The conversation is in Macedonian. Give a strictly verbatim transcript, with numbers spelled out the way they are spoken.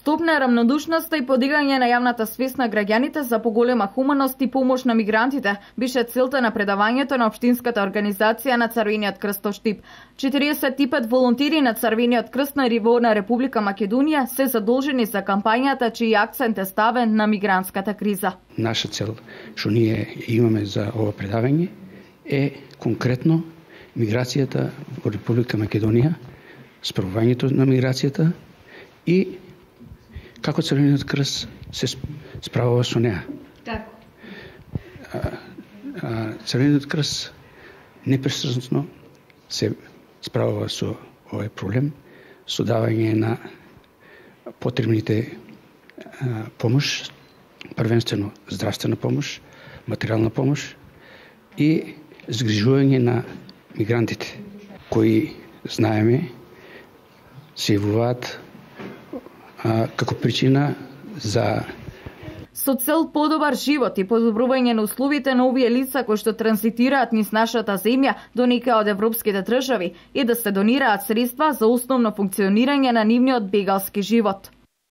Стопна рамнодушноста и подигање на јавната свест на граѓаните за поголема хуманост и помош на мигрантите беше целта на предавањето на општинската организација на Црвениот крст Штип. четириесет и пет волонтери на Црвениот крст на ниво на Република Македонија се задолжени за кампањата чиј акцент е ставен на мигрантската криза. Наша цел што ние имаме за ова предавање е конкретно миграцијата во Република Македонија, справувањето на миграцијата и како Црвениот крст се справува со неа. Како? Црвениот крст непрестрасно се справува со овој проблем, со давање на потребните а, помош, првенствено здравствена помош, материјална помош и згрижување на мигрантите, кои знаеме се јавуваат како причина за со цел подобар живот и подобрување на условите на овие лица кои што транзитираат низ нашата земја до некоја од европските држави и да се донираат средства за основно функционирање на нивниот бегалски живот.